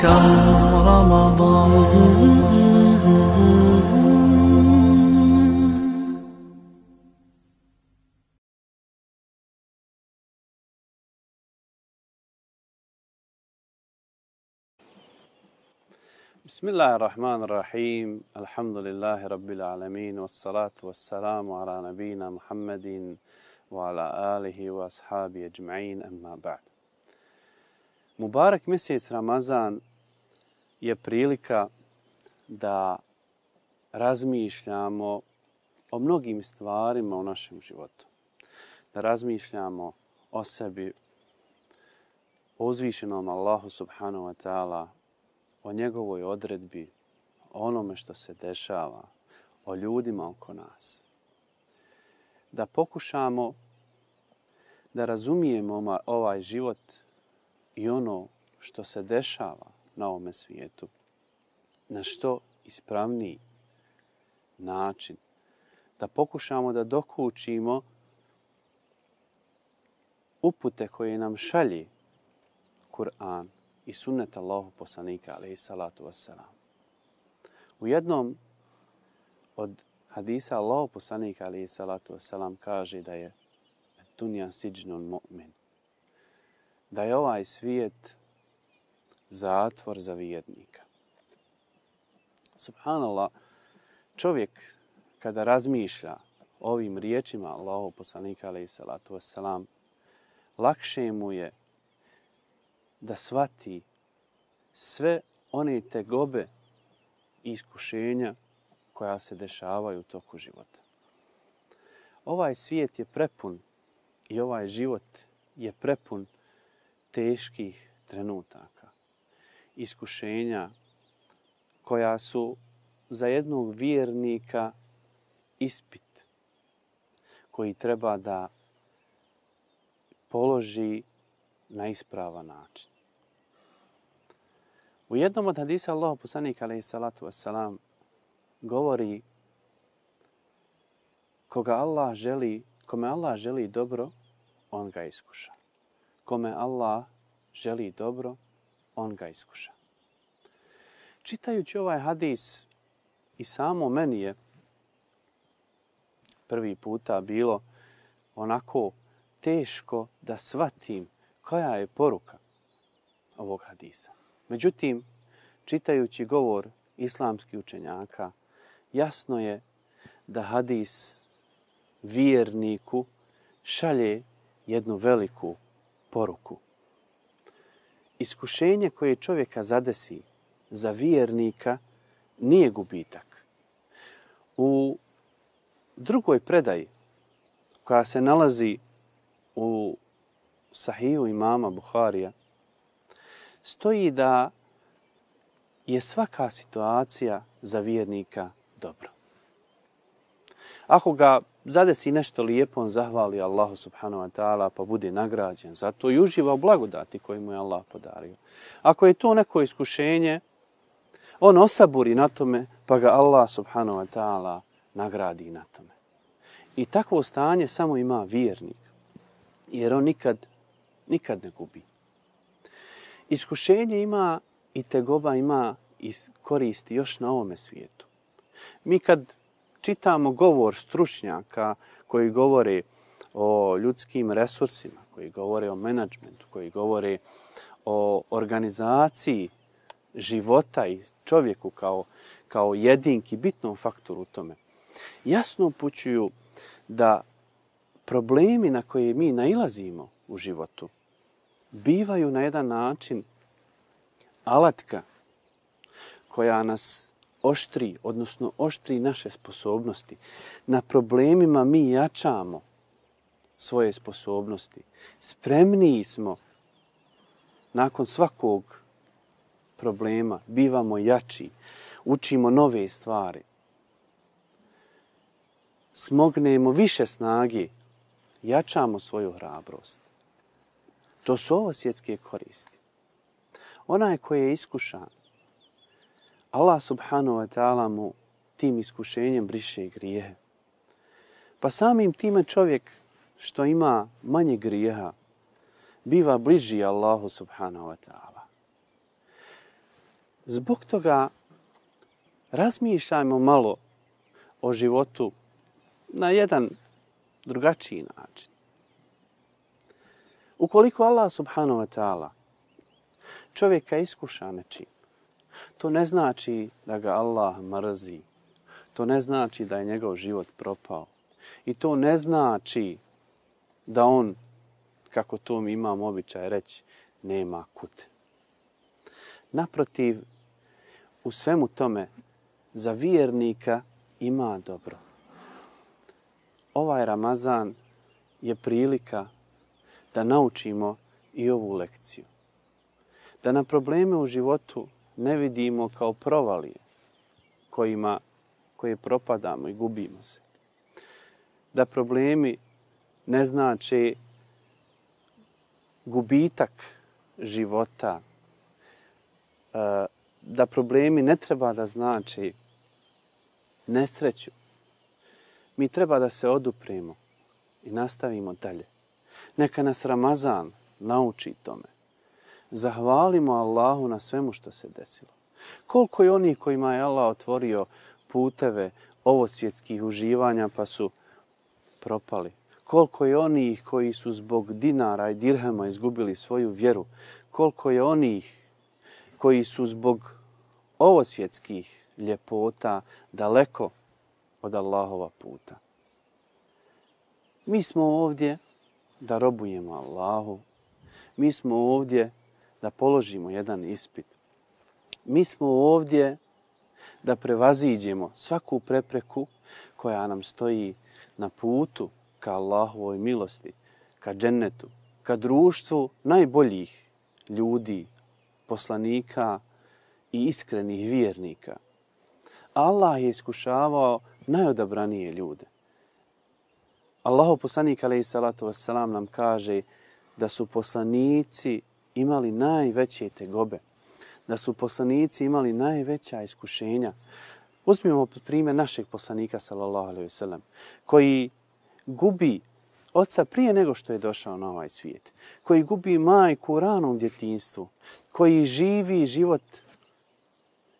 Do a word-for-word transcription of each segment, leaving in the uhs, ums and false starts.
كم رمضان. بسم الله الرحمن الرحيم الحمد لله رب العالمين والصلاة والسلام على نبينا محمد وعلى آله وأصحابه أجمعين أما بعد. Mubarak mjesec Ramazan je prilika da razmišljamo o mnogim stvarima u našem životu. Da razmišljamo o sebi, o uzvišenom Allahu subhanahu wa ta'ala, o njegovoj odredbi, o onome što se dešava, o ljudima oko nas. Da pokušamo da razumijemo ovaj život i ono što se dešava na ovome svijetu na što ispravniji način. Da pokušamo da dokučimo upute koje nam šalje Kur'an i sunnet Allahu poslanika alejhi salatu vesselam. U jednom od hadisa Allahu poslanika alejhi salatu vesselam kaže da je dunja siđnun mu'min. Da je ovaj svijet zatvor za vjernika. Subhanallah, čovjek kada razmišlja ovim riječima Allahu poslanika alejhi salatu vesselam, lakše mu je da shvati sve one tegobe i iskušenja koja se dešavaju u toku života. Ovaj svijet je prepun i ovaj život je prepun teških trenutaka, iskušenja koja su za jednog vjernika ispit koji treba da položi na ispravan način. U jednom od hadisa Allahu poslanik alejhi salatu vesselam govori koga Allah želi, kome Allah želi dobro, on ga iskuša. Kome Allah želi dobro, on ga iskuša. Čitajući ovaj hadis i samo meni je prvi puta bilo onako teško da shvatim koja je poruka ovog hadisa. Međutim, čitajući govor islamskih učenjaka, jasno je da hadis vjerniku šalje jednu veliku poruku. Iskušenje koje čovjeka zadesi za vjernika nije gubitak. U drugoj predaji koja se nalazi u Sahiju imama Buharija stoji da je svaka situacija za vjernika dobro. Ako ga zadesi nešto lijepo, on zahvali Allahu subhanahu wa ta'ala pa bude nagrađen zato i uživa u blagodati koju mu je Allah podario. Ako je to neko iskušenje, on osaburi na tome pa ga Allah subhanahu wa ta'ala nagradi na tome. I takvo stanje samo ima vjernik, jer on nikad, nikad ne gubi. Iskušenje ima i tegoba ima i koristi još na ovome svijetu. Mi kad čitamo govor stručnjaka koji govore o ljudskim resursima, koji govore o menadžmentu, koji govore o organizaciji života i čovjeku kao, kao jedinki, bitnom faktoru u tome, jasno upućuju da problemi na koje mi nailazimo u životu bivaju na jedan način alatka koja nas oštri, odnosno oštri naše sposobnosti. Na problemima mi jačamo svoje sposobnosti. Spremniji smo nakon svakog problema, bivamo jači, učimo nove stvari. Smognemo više snage, jačamo svoju hrabrost. To su ovo svjetske koristi. Onaj koji je iskušan, Allah subhanahu wa ta'ala mu tim iskušenjem briše grijehe. Pa samim time čovjek što ima manje grijeha biva bliži Allahu subhanahu wa ta'ala. Zbog toga razmišljajmo malo o životu na jedan drugačiji način. Ukoliko Allah subhanahu wa ta'ala čovjeka iskuša nečim, to ne znači da ga Allah mrzi. To ne znači da je njegov život propao. I to ne znači da on, kako to mi imamo običaj reći, nema kud. Naprotiv, u svemu tome za vjernika ima dobro. Ovaj Ramazan je prilika da naučimo i ovu lekciju. Da na probleme u životu ne vidimo kao provalije kojima, koje propadamo i gubimo se. Da problemi ne znače gubitak života. Da problemi ne treba da znače nesreću. Mi treba da se odupremo i nastavimo dalje. Neka nas Ramazan nauči tome. Zahvalimo Allahu na svemu što se desilo. Koliko je onih kojima je Allah otvorio puteve ovosvjetskih uživanja pa su propali. Koliko je onih koji su zbog dinara i dirhema izgubili svoju vjeru. Koliko je onih koji su zbog ovosvjetskih ljepota daleko od Allahova puta. Mi smo ovdje da robujemo Allahu. Mi smo ovdje da položimo jedan ispit. Mi smo ovdje da prevaziđemo svaku prepreku koja nam stoji na putu ka Allahovoj milosti, ka džennetu, ka društvu najboljih ljudi, poslanika i iskrenih vjernika. Allah je iskušavao najodabranije ljude. Allahov poslanik alejhi salatu vesselam nam kaže da su poslanici imali najveće tegobe, da su poslanici imali najveća iskušenja. Uzmimo primjer našeg poslanika sallallahu alejhi ve sellem, koji gubi oca prije nego što je došao na ovaj svijet, koji gubi majku u ranom djetinjstvu, koji živi život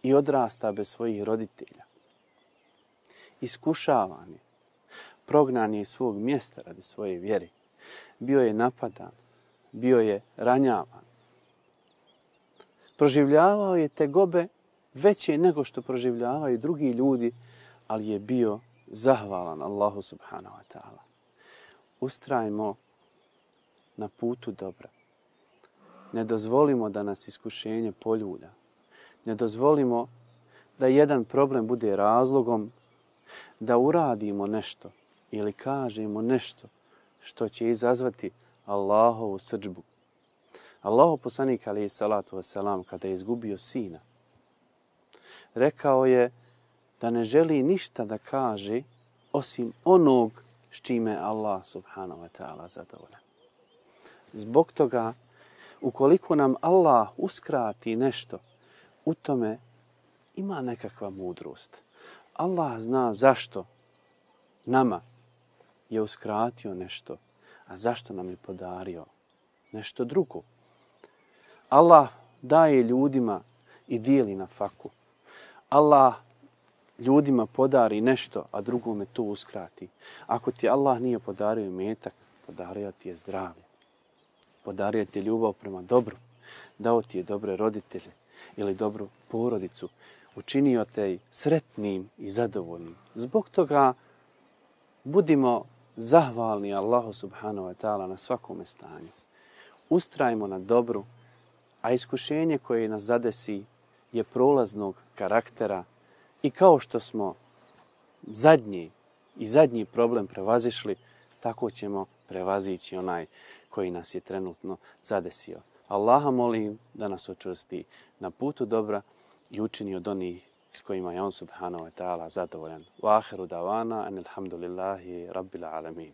i odrasta bez svojih roditelja. Iskušavan je, prognan je iz svog mjesta radi svoje vjere, bio je napadan, bio je ranjavan. Proživljavao je tegobe veće nego što proživljavaju drugi ljudi, ali je bio zahvalan Allahu subhanahu wa ta'ala. Ustrajmo na putu dobra. Ne dozvolimo da nas iskušenje poljulja. Ne dozvolimo da jedan problem bude razlogom da uradimo nešto ili kažemo nešto što će izazvati Allahovu srdžbu. Allahov poslanik alejhi salatu vesselam kada je izgubio sina, rekao je da ne želi ništa da kaže osim onog s čime je Allah subhanahu wa ta'ala zadovoljan. Zbog toga, ukoliko nam Allah uskrati nešto, u tome ima nekakva mudrost. Allah zna zašto nama je uskratio nešto, a zašto nam je podario nešto drugo. Allah daje ljudima i dijeli na faku. Allah ljudima podari nešto, a drugome to uskrati. Ako ti Allah nije podario imetak, podario ti je zdravlje. Podario ti je ljubav prema dobru. Dao ti je dobre roditelje ili dobru porodicu. Učinio te sretnim i zadovoljnim. Zbog toga budimo zahvalni Allahu subhanahu wa ta'ala na svakome stanju. Ustrajmo na dobru, a iskušenje koje nas zadesi je prolaznog karaktera i kao što smo zadnji i zadnji problem prevazišli, tako ćemo prevazići onaj koji nas je trenutno zadesio. Allaha molim da nas učvrsti na putu dobra i učini od onih s kojima je on subhanahu wa ta'ala zadovoljan. Wa ahiru davana anilhamdulillahi rabbil alamin.